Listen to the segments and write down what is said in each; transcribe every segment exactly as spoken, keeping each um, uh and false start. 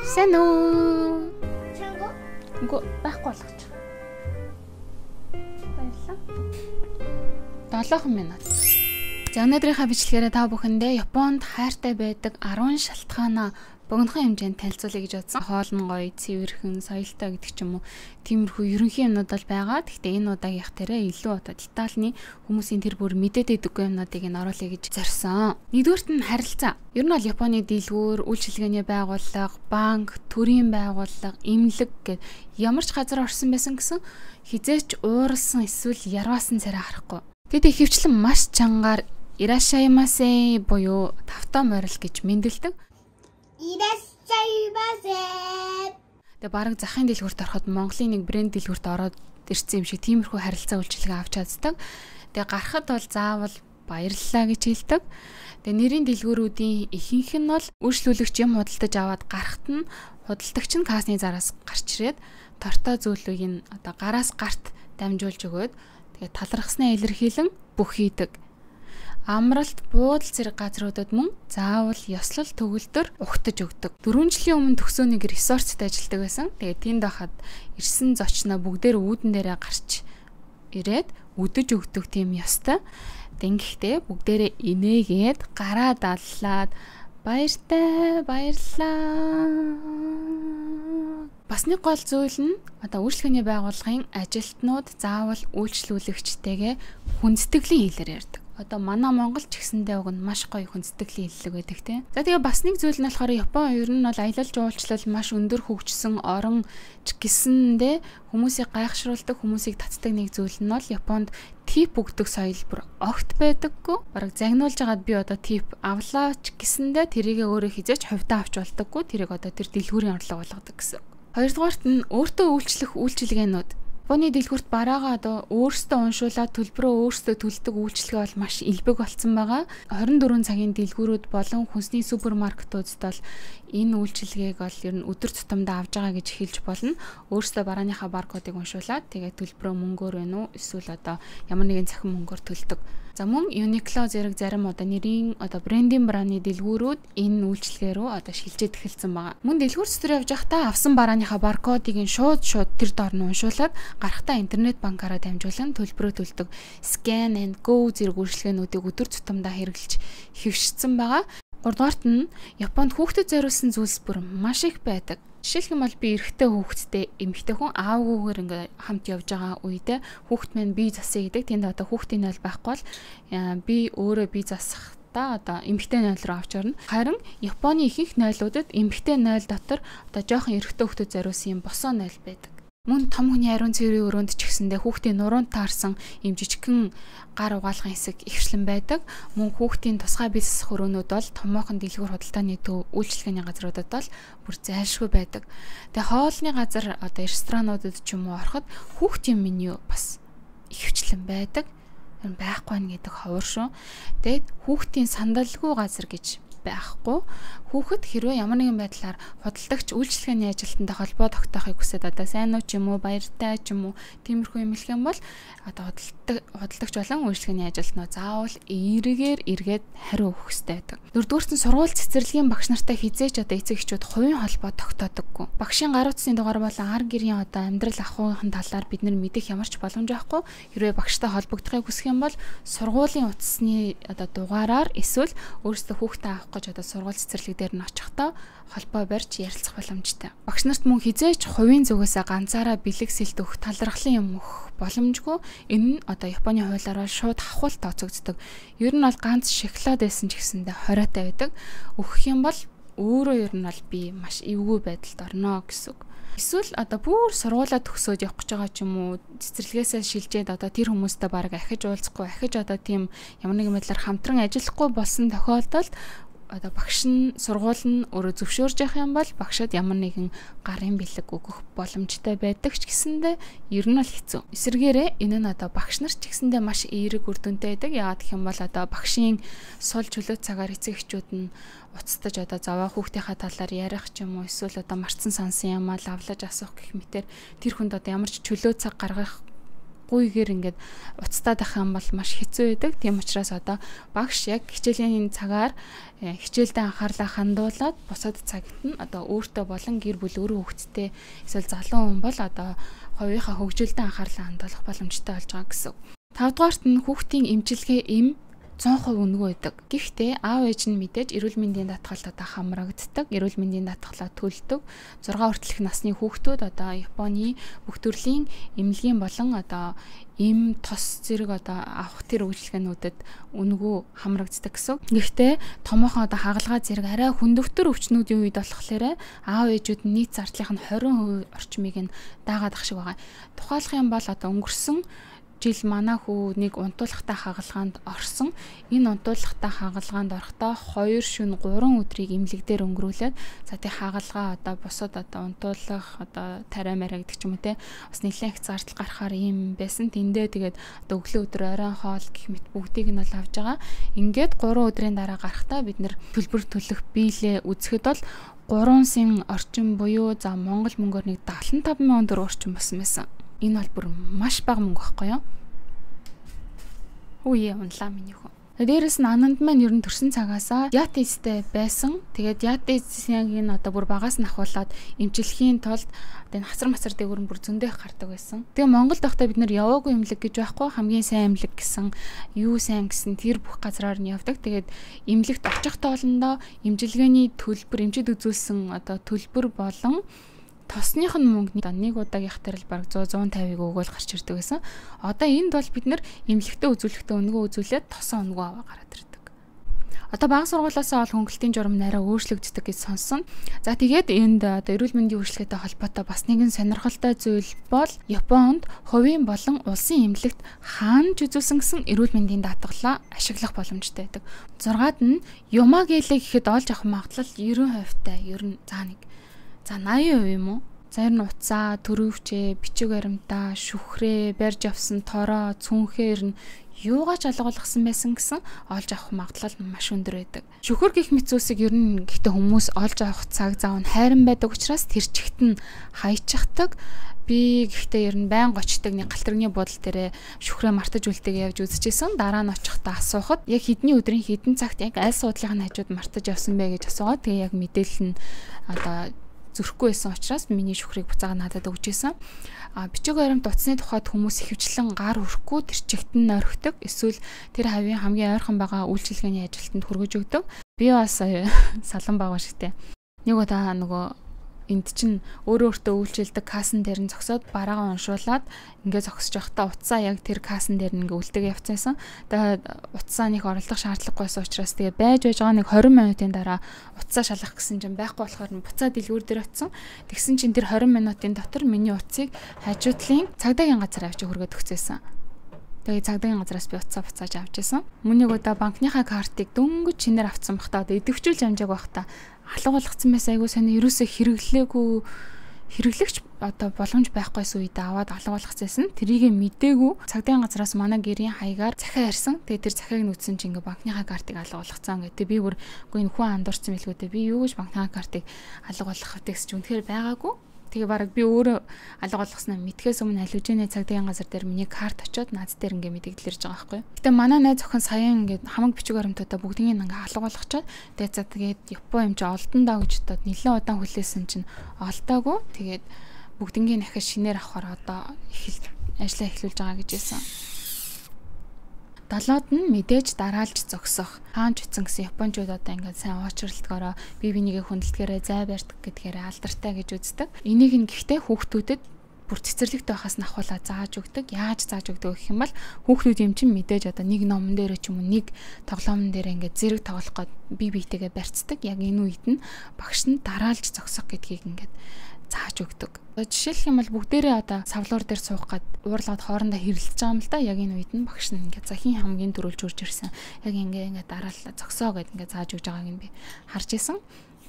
Сайн уу? Чанго? Үгүй байхгүй болгоч. Баярлалаа. долоон минут. За өнөөдрийнхээ бичлэгээрээ та бүхэндээ Японд хайртай байдаг арван шалтгаанаа богинохон хэмжээнд танилцуулъя гэж бодсон. Хоол нь гоё, цэвэрхэн, соёлтой гэдэг ч юм уу. Тиймэрхүү ерөнхий юмнууд бол байгаа. Гэхдээ энэ удаагийнх тэрэ илүү одоо детальны хүмүүсийн тэр бүр мэдээд байдаггүй юмнуудыг нь оруулъя гэж зорьсон. Нэгдүгürt нь харилцаа. Ер нь бол Японы дэлгүүр, үйлчилгээний байгууллага, банк, төрийн байгууллага, эмнэлэг гэд ямар ч газар орсон байсан гэсэн хизээч ууралсан эсвэл ярваасан царай харахгүй. Тэд ихэвчлэн маш чангаар ирашаимасе буюу тавтаа морил гэж мэндэлдэг. Ирашаимасе. Тэгээ бараг захын дэлгүүрт ороход Монголын нэг брэнд дэлгүүрт ороод ирсэн юм шиг тиймэрхүү харилцаа үйлчилгээ авч чаддаг. Тэгээ гарахад бол заавал баярлалаа гэж хэлдэг. Тэгээ нэрийн дэлгүүрүүдийн ихэнх нь бол үйлчлүүлэгч юм худалдаж аваад гарахт нь худалдагч нь кассны зараас гарч ирээд тортой зүйлийг нь одоо гараас гарт дамжуулж өгөөд тэгээ талархснаа илэрхийлэн бүх хийдэг. Амралт, буудал зэрэг газруудад мөн заавал ёслол төгөлдөр угтаж өгдөг. дөрвөн жилийн өмнө төгсөөнийг ресортт ажилладаг байсан. Тэгээ тэнд байхад ирсэн зочноо бүгдээр үүдэн дээрээ гарч ирээд үдэж өгдөг тийм ёстой. Тэгэхдээ бүгдээрээ инээгээд гараа даллаад баяртай баярлаа. Бас нэг гол зүйл нь одоо үйлчлэгээний байгууллагын ажилтнууд заавал үйлчлүүлэгчтэйгээ хүндэтгэлэн хэлээр ярьдаг. Одоо манай Монгол ч гэсэндээ уг нь маш гоё хүндэтгэлэн хэллэг байдаг тийм. За тэгээ бас нэг зүйл нь болохоор Япон ер нь бол аялал жуулчлал маш өндөр хөгжсөн орон ч гэсэндээ хүмүүсийг гайхшруулдаг, хүмүүсийг татдаг нэг зүйл нь бол Японд тип өгдөг соёл бүр огт байдаггүй. Бараг загнуулж байгаад би одоо тип авлаа ч гэсэндээ тэрийг өөрөө хизээч хувьдаа авч болдоггүй. Тэрийг одоо тэр дэлгүүрийн орлого болгодог гэсэн. Хоёрдугаарт нь өөртөө үйлчлэх үйлчилгээнүүд. Японы дэлгүүрт бараагаа одоо өөрсдөө уншуулаад төлбөрөө өөрсдөө төлдөг үйлчилгээ бол маш элбэг болсон байгаа. хорин дөрвөн цагийн дэлгүүрүүд болон хүнсний супермаркетуудад бол энэ үйлчилгээг бол ер нь өдөр тутамдаа авж байгаа гэж хэлж болно. Өөрсдөө барааныхаа баркодыг уншуулад тэгээд төлбөрөө мөнгөөр байна уу эсвэл одоо ямар нэгэн цахим мөнгөөр төлдөг. За мөн Uniqlo зэрэг зарим одоо нэрийн одоо брендинг брааны дэлгүүрүүд энэ үйлчилгээ рүү одоо шилжиж эхэлсэн байгаа. Мөн дэлгүүр дотор явж байхдаа авсан барааныхаа баркодыг нь шууд шууд тэр доор нь уншуулад гарахтаа интернет банкаараа дамжуулан төлбөрөө төлдөг. Scan and Go зэрэг үйлчилгээнүүдийг өдөр тутамдаа хэрэглэж хэвшигдсэн байгаа. Гуравдугаарт нь Японд хүүхдэд зориулсан зүйлс бүр маш их байдаг. Жишээлх юм бол би эрэгтэй хүүхэдтэй эмэгтэй хүн аавгүйгээр ингээ хамт явж байгаа үедээ хүүхэд маань бие засъя гэдэг. Тэнд одоо хүүхдийн нойл байхгүй бол би өөрөө бие засах та одоо эмэгтэй нойл руу авч орно. Харин Японы ихэнх нойлуудад эмэгтэй нойл дотор одоо жоохон эрэгтэй хүүхдэд зориулсан юм босоо нойл байдаг. Мөн том хүний ариун цэврийн өрөөнд ч гэсэндээ хүүхдийн нуруунд таарсан юм жижигхэн гар угаалгын хэсэг ихвчлэн байдаг. Мөн хүүхдийн тусгай бие засах өрөөнүүд бол томоохон дэлгүүр худалдааны төв үйлчилгээний газруудад бол бүр зайлшгүй байдаг. Тэгээ хоолны газар одоо ресторануудад ч юм уу ороход хүүхдийн меню бас ихвчлэн байдаг. Байхгүй нэг гэдэг ховор шүү. Тэгээд хүүхдийн сандалгүй газар гэж байхгүй. Хүүхэд хэрвээ ямар нэгэн байдлаар худалдагч үйлчилгээний ажилтнтай холбоо тогтоохыг хүсээд одоо сайн уу ч юм уу баяртай ч юм уу тиймэрхүү юм хэлэх юм бол одоо худалдаг худалдагч болон үйлчилгээний ажилтнаа заавал эргээр эргээд хариу өгөх хэрэгтэй байдаг. Дөрөвдүгээрт нь сургууль цэцэрлэгийн багш нартай хизээч одоо эцэг эхчүүд хувийн холбоо тогтоодоггүй. Багшийн гар утасны дугаар болон ар гэрийн одоо амьдрал ахуйн талаар бид нар мэдэх ямар ч боломж байхгүй. Хэрвээ багштай холбогдохыг хүсэх юм бол сургуулийн утасны одоо дугаараар эсвэл өөрсдөө хүүхдээ авах гэж одоо сургууль цэцэрлэг дээр нь очихдоо холбоо барьж ярилцах боломжтой. Багш нарт мөн хизээч хувийн зүгээсээ ганцаараа бэлэг сэлт өгөх талархлын юм өгөх боломжгүй. Энэ нь одоо Японы хуулиар бол шууд хавхал тооцогддог. Ер нь бол ганц шоколад байсан ч гэсэндээ хориотой байдаг. Өгөх юм бол өөрөө ер нь бол би маш эвгүй байдалд орно гэсэн үг. Эсвэл одоо бүр сургуулаа төгсөөд явах гэж байгаа ч юм уу цэцэрлэгээсээ шилжээд одоо тэр хүмүүстэй баг ахиж уулзахгүй ахиж одоо тийм ямар нэгэн байдлаар хамтран ажиллахгүй болсон тохиолдолд одоо багш нь сургууль нь өөрөө зөвшөөрж явах юм бол багшад ямар нэгэн гарын бэлэг өгөх боломжтой байдаг ч гэсэндээ ер нь л хэцүү. Эсвэргээрээ энэ нь одоо багш нар ч гэсэндээ маш эерэг үр дүнтэй байдаг. Яагаад гэх юм бол одоо багшийн сул чөлөө цагаар эцэг эхчүүд нь уцтаж одоо заваа хүүхдийнхаа талаар ярих ч юм уу эсвэл одоо марцсан сансан юм аа лавлаж асуух гэх мэтэр тэр хүнд одоо ямар ч чөлөө цаг гаргах гуйгээр ингээд уцтаад ах юм бол маш хэцүү байдаг. Тийм учраас одоо багш яг хичээлийн цагаар хичээлдээ анхаарлаа хандуулад бусад цагт нь одоо өөртөө болон гэр бүл өөрөө хүүхэдтэй эсвэл залуу хүн бол одоо хувийнхаа хөгжилдөө анхаарлаа хандуулах боломжтой болж байгаа гэсэн. тавдугаарт нь хүүхдийн эмчилгээ эм цон хувь үнэгүй байдаг. Гэхдээ аав ээж нь мэдээж эрүүл мэндийн даатгалд одоо хамрагддаг, эрүүл мэндийн даатгалаа төлдөг. зургаан хүртэлх насны хүүхдүүд одоо Японы бүх төрлийн эмнэлгийн болон одоо эм тос зэрэг одоо авах тэр үйлчилгээнүүдэд үнэгүй хамрагддаг гэсэн. Гэхдээ томоохон одоо хагалгаа зэрэг арай хөндөгтөр өвчнүүдийн үед болохоор аав ээжүүд нь нийт зардлын хорин хувь орчмыг нь даагаад ах шиг байгаа. Тухайлах юм бол одоо өнгөрсөн жил манай хүү нэг унтуулгатай хагалгаанд орсон. Энэ унтуулгатай хагалгаанд орохдоо хоёр шөнө гурван өдрийг эмнэлэг дээр өнгөрүүлээд за тий хагалгаа одоо бусад одоо унтуулах одоо тариа мараа гэдэг ч юм уу те бас нэлээд их зардал гарахаар юм байсан. Тэндээ тэгээд одоо өглөө өдөр оройн хоол гэх мэт бүгдийг нь бол авж байгаа. Ингээд гурван өдрийн дараа гарахдаа бид нэр төлбөр төлөх биелээ үзэхэд бол гурван сая орчим буюу за Монгол мөнгөөр нэг дагалан таван мянган төгрөг орчим болсон байсан. Энэ бол бүр маш бага мөнгө байхгүй юу? Үе унлаа миний хүн. Дээрээс нь ананд маань ер нь төрсэн цагаасаа диатезтэй байсан. Тэгээд диатезийг нь одоо бүр багаас нь ахуулаад эмчилхийн тулд одоо энэ хасар масар дээгүүр бүр зөндөө их гардаг байсан. Тэгээ Монголд байхдаа бид нэр яваагүй эмнэлэг гэж байхгүй, хамгийн сайн эмнэлэг гэсэн юу сайн гэсэн тэр бүх газраар нь явдаг. Тэгээд эмнэлэгт очих тоолондоо эмчилгээний төлбөр, эмчид үзүүлсэн одоо төлбөр болон тосных нь мөнгөний нэг удаагийнх дээр л бараг сто сто пятьдесят өгөөл гарч ирдэг байсан. Одоо энд бол бид нэр эмнэлэгтээ үзүүлэхдээ өнгөө үзүүлээд тосон өнгөө аваа гараад ирдэг. Одоо бага сургуулиасаа ол хөнгөлтийн журам нараа өөрчлөгддөг гэж сонсон. За тэгээд энд одоо эрүүл мэндийн үйлчлэгээтэй холбоотой бас нэгэн сонирхолтой зүйл бол Японд хувийн болон улсын эмнэлэгт хаанч үзүүлсэн гэсэн эрүүл мэндийн даатгалаа ашиглах боломжтой байдаг. зургаад нь Юмагелэ гэхэд олж авах магадлал девяносто хувьтай ер нь заа нэг за восемьдесят хувь юм уу? За ер нь уцаа, төрөвчээ, бичиг баримтаа, шүхрээ, барьж авсан тороо, цүнхээр нь юугаач алгуулгасан байсан гэсэн олж авах магадлал маш өндөр байдаг. Шүхэр гих мэт зүйлсийг ер нь гэхдээ хүмүүс олж авах цаг зав нь хайран байдаг учраас тэр чигт нь хайчихдаг. Би гэхдээ ер нь байн гочдаг нэг галтрагны буудлын дээрээ шүхрээ мартаж үлдээг явж үзчихсэн. Дараа нь очихдаа асуухад яг хэдний өдрийн хэдэн цагт яг аль суудлын хажууд мартаж явсан бэ гэж асуугаад тэгээ яг мэдээлэл нь одоо зөрөхгүй байсан учраас миний шүхрийг буцаага надад өгч ийсэн. А бичиг баримт утасны тухайд хүмүүс ихэвчлэн гар өрөхгүй тэр чигт нь орхидог. Эсвэл тэр хавийн хамгийн ойрхон байгаа үйлчилгээний ажилтнанд хүргэж өгдөг. Би бас салан байгаа шигтэй. Нэг удаа нөгөө энд чинь өөрөө өөртөө үйлчилдэг кассан дээр нь зогсоод бараагаа уншуулад ингээд зогсож явахдаа утсаа яг тэр кассан дээр нь ингээд үлдээг явцсан. Тэгээд утсаа нэг оролдох шаардлагагүйсэн учраас тэгээ байж байж байгаа нэг двадцать минутын дараа утсаа шалгах гэсэн чинь байхгүй болохоор нь буцаад дэлгүүр дээр очсон. Тэгсэн чинь тэр двадцать минутын дотор миний утсыг хажуудлын цагдаагийн газар авчиж хүргээд өгчээсэн. Тэгээ цагдаагийн газраас би утсаа буцааж авч ирсэн. Мөн нэг удаа банкныхаа картыг дөнгөж чинээр авцсан бахта одоо идэвхжүүлж амжааг бахта алга болгоцсон байсан. Айгуу сони ерөөсөө хэрэглээгүй хэрэглэгч одоо боломж байхгүйсэн үед аваад алга болгоцсон. Тэрийг мдээгүй цагдаагийн газраас манай гэрийн хаягаар захиа ирсэн. Тэгээ тэр захиаг нь үтсэн чинь ингээ банкныхаа картыг алга болгоцсон гэдэг. Би бүр үгүй энэ хүн андуурсан мэлгүй дээ. Би юу гэж банкныхаа картыг алга болгох вэ гэсэн чинь үнэхээр байгаагүй. Тэгээ бараг би өөрөө алга болгосноо мэдхээс өмнө алюжины цагдаагийн газар дээр миний карт очиод наад дээр ингээ мэдээлэлж байгаа байхгүй. Гэтэ манай найз охин саяхан ингээ хамаг бичиг баримтуудаа бүгдийг ингээ алга болгочоод тэгээ за тэгээд Япон юм чи олдон даа гэж бодоод нэлээд удаан хүлээсэн чинь олдоогүй. Тэгээд бүгднийг дахиад шинээр авахаар одоо эхэл ажиллаа эхлүүлж байгаа гэж хэлсэн. Далоод нь мэдээж дараалж зогсох. Хаанч утсан гэсэн японочууд одоо ингээд сайн уучралтгаараа бие бинийгээ хүндэлтгэрээ зай барьдаг гэдгээрээ алдартай гэж үздэг. Энийг нь гэхдээ хүүхдүүдэд бүр цэцэрлэгт байхаас нь ахуулаад зааж өгдөг. Яаж зааж өгдөг гэх юм бол хүүхдүүд юм чинь мэдээж одоо нэг номон дээр ч юм уу нэг тоглоомн дээр ингээд зэрэг тоглох гээд бие биетэйгээ барьцдаг. Яг энэ үед нь багш нь дараалж зогсох гэдгийг ингээд зааж өгдөг. Жишээлх юм бол бүгдээрээ одоо савлуур дээр суух гээд уурлаад хоорондоо хэрэлдэж байгаа юм л да. Яг энэ үед нь багш нь ингээд за хин хамгийн дөрүүлж урж ирсэн. Яг ингээ ингээ дараалал зогсоо гэд ингээ зааж өгж байгааг нь би харж исэн.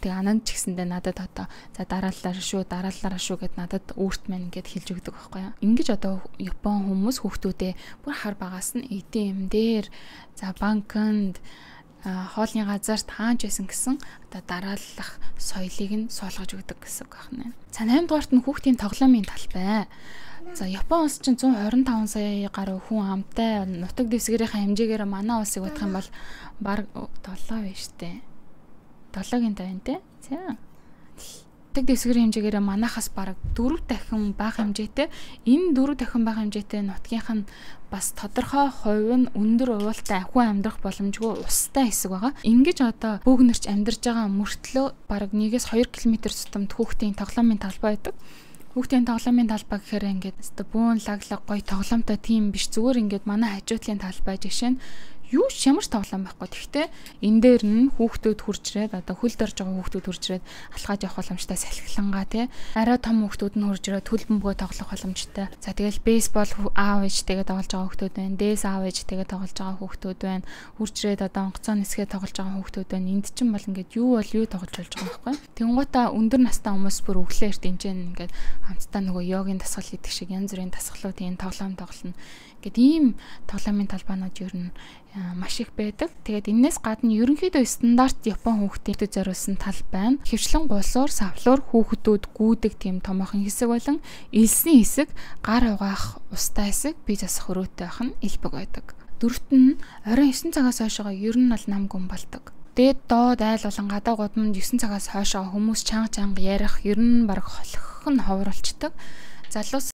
Тэгээ ананд ч гэсэндээ надад одоо за дарааллаараа шүү, дарааллаараа шүү гэд надад өөрт маань ингээд хэлж өгдөг байхгүй юу. Ингиж одоо Япон хүмүүс хүүхдүүдээ бүр хар багаас нь эй ти эм дээр за банкнд хоолны газарт хаанч байсан гэсэн одоо дарааллах соёлыг нь суулгаж өгдөг гэсэн үг байна. За наймдугаарт нь хүүхдийн тоглоомын талбай. За Япон улс чинь one hundred twenty-five сая гаруй хүн амтай нутаг дэвсгэрийн хэмжээгээр манай улсыг бодох юм бол баг seven биш үү? seven-гийн тавин тий. За. Нутаг дэвсгэрийн хэмжээгээр манахаас баг four дахин бага хэмжээтэй. Энэ four дахин бага хэмжээтэй нутгийнх нь бас тодорхой хувь нь өндөр уултай хүн амьдрах боломжгүй устай хэсэг байгаа. Ингэж одоо бөөгнөрч амьдарч байгаа мөртлөө баг one-ээс two км тутамд хүүхдийн тоглоомын талбай байдаг. Хүүхдийн тоглоомын талбай гэхээр ингээд өстө бүүн лаглаг гоё тоглоомтой тийм биш, зүгээр ингээд манай хажуудлын талбай жишээ нь юу ямар ч тоглоом байхгүй. Гэхдээ энэ дээр нь хүүхдүүд хурж ирээд одоо хөл дорж байгаа хүүхдүүд хурж ирээд алхаж явах боломжтой, салхилангаа тий. Арай том хүүхдүүд нь хурж ирээд хөл бөмбөгөө тоглох боломжтой. За тэгэл бейсбол аав ээжтэйгээ тоглож байгаа хүүхдүүд байна. Дээс аав ээжтэйгээ тоглож байгаа хүүхдүүд байна. Хурж ирээд одоо онгоцоо нисгээ тоглож байгаа хүүхдүүд байна. Энд чинь бол ингээд юу бол юу тоглож болж байгаа байхгүй. Тэнгуутаа өндөр настай хүмүүс бүр өглөөр дэнжэн ингээд хамтдаа нөгөө йогийн дасгал хийдэг шиг янз бүрийн дасгалууд энэ тоглоом тоглоно. Гэт ийм тоглоомын талбаанууд ер нь маш их байдаг. Тэгээд энэс гадна ерөнхийдөө стандарт Япон хүүхдүүдэд зориулсан тал байна. Хөвчлэн гулсуур, савлуур хүүхдүүд гүйдэг тийм томоохон хэсэг болон элсний хэсэг, гар угаах устай хэсэг, бие засах өрөөтэй байх нь элбэг байдаг. Дөрөвт нь оройн nine цагаас хойшоо ер нь бол нам гүн болдог. Дээд доод айл болон гадаа гудамд nine цагаас хойшоо хүмүүс чанга чанга ярих, ер нь баг холих нь ховруулцдаг. Залуус